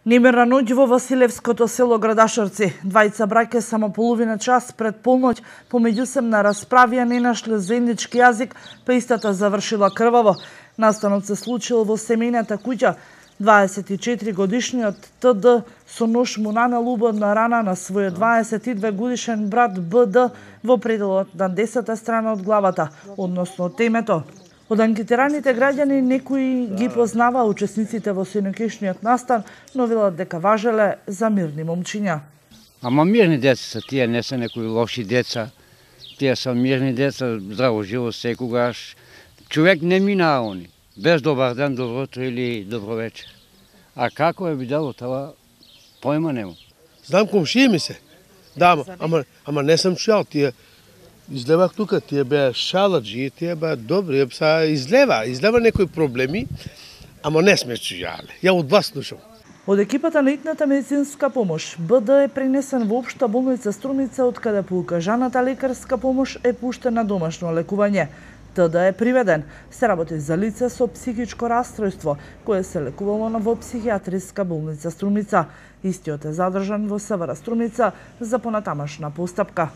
Немирна ноќ во Василевското село Градашарци. Двајца браќа само половина час пред полноќ помеѓу се на расправија не нашле заеднички јазик, па истата завршила крваво. Настанот се случил во семејната куќа. 24 годишниот ТД со нож му нанел убавна рана на својот 22 годишен брат БД во пределот на 10-та страна од главата, односно темето. Од анкетираните граѓани некои ги познава учесниците во синокешниот настан, но велат дека важеле за мирни момчиња. Ама мирни деца се тие, не се некои лоши деца. Тие се мирни деца, здраво живо секогаш. Човек не минаа они, без добар ден, добро утро или добро вечер. А како е видело това, појма нема. Знам комшија ми се. Да, ама не сам чуал тие. Излевах тука, тие беа шаладжи, тие беа добри, излева некои проблеми, ама не сме чујале. Ја од вас слушам. Од екипата на итната медицинска помош, БД е пренесен во општа болница Струмица, од каде по укажаната лекарска помош е пуштен на домашно лекување. ТД е приведен. Се работи за лице со психичко расстройство, кое се лекувало во психијатриска болница Струмица. Истиот е задржан во СВР Струмица за понатамашна постапка.